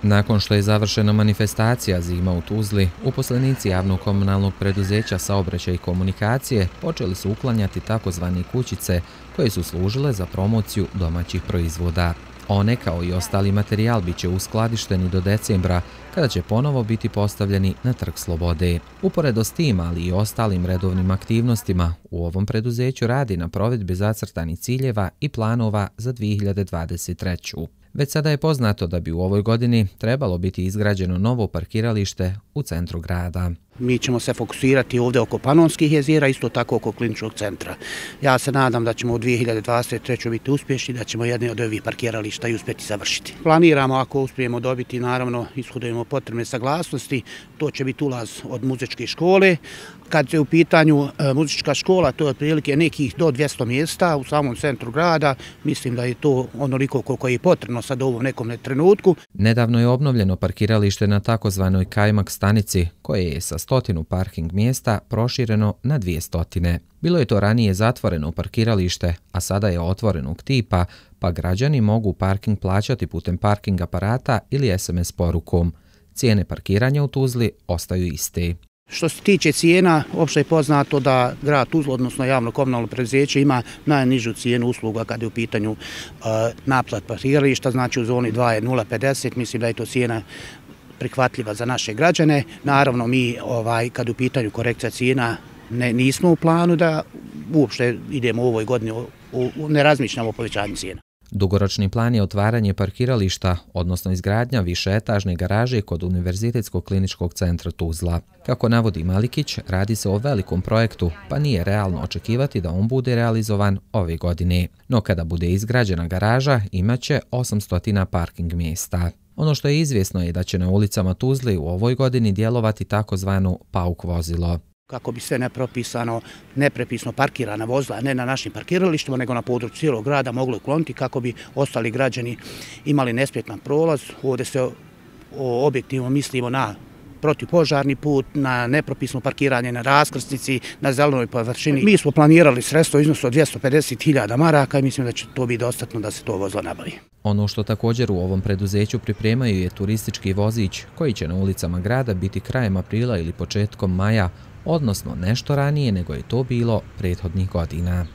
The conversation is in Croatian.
Nakon što je završena manifestacija Zima u Tuzli, uposlenici javnog komunalnog preduzeća Saobraćaj i komunikacije počeli su uklanjati takozvane kućice koje su služile za promociju domaćih proizvoda. One, kao i ostali materijal, bit će uskladišteni do decembra, kada će ponovo biti postavljeni na Trg Slobode. Uporedo s tim, ali i ostalim redovnim aktivnostima, u ovom preduzeću radi na provedbi zacrtanih ciljeva i planova za 2023. Već sada je poznato da bi u ovoj godini trebalo biti izgrađeno novo parkiralište u centru grada. Mi ćemo se fokusirati ovdje oko Panonskih jezera, isto tako oko kliničkog centra. Ja se nadam da ćemo u 2023. biti uspješni, da ćemo jedne od ovih parkirališta i uspjeti završiti. Planiramo, ako uspijemo dobiti, naravno, ishodujemo potrebne saglasnosti, to će biti ulaz od muzičke škole. Kad je u pitanju muzička škola, to je otprilike nekih do 200 mjesta u samom centru grada. Mislim da je to onoliko koliko je potrebno sad u ovom nekom trenutku. Nedavno je obnovljeno parkiralište na takozvanoj Kajmak stanici, koje je sa 100 parking mjesta prošireno na 200. Bilo je to ranije zatvoreno parkiralište, a sada je otvorenog tipa, pa građani mogu parking plaćati putem parking aparata ili SMS porukom. Cijene parkiranja u Tuzli ostaju iste. Što se tiče cijena, opšte je poznato da grad Tuzla, odnosno javno komunalno preduzeće, ima najnižu cijenu usluga kada je u pitanju naplat parkirališta, znači u zoni 2 je 0,50, mislim da je to cijena prihvatljiva za naše građane. Naravno, mi kad u pitanju korekcija cijena nismo u planu da uopšte idemo u ovoj godini, ne razmišljamo o povećanju cijena. Dugoročni plan je otvaranje parkirališta, odnosno izgradnja višeetažne garaže kod Univerzitetskog kliničkog centra Tuzla. Kako navodi Malikić, radi se o velikom projektu, pa nije realno očekivati da on bude realizovan ove godine. No kada bude izgrađena garaža, imaće 800 parking mjesta. Ono što je izvjesno je da će na ulicama Tuzli u ovoj godini djelovati takozvano pauk vozilo. Kako bi sve neprepisno parkirana vozila, ne na našim parkiralištima, nego na području cijelog grada moglo ukloniti kako bi ostali građani imali nesmetan prolaz. Ovdje se objektivno mislimo na protivpožarni put, na nepropisno parkiranje na raskrsnici, na zelenoj površini. Mi smo planirali sredstvo u iznosu od 250.000 maraka i mislim da će to biti dostatno da se to vozilo nabavi. Ono što također u ovom preduzeću pripremaju je turistički vozić koji će na ulicama grada biti krajem aprila ili početkom maja, odnosno nešto ranije nego je to bilo prethodnih godina.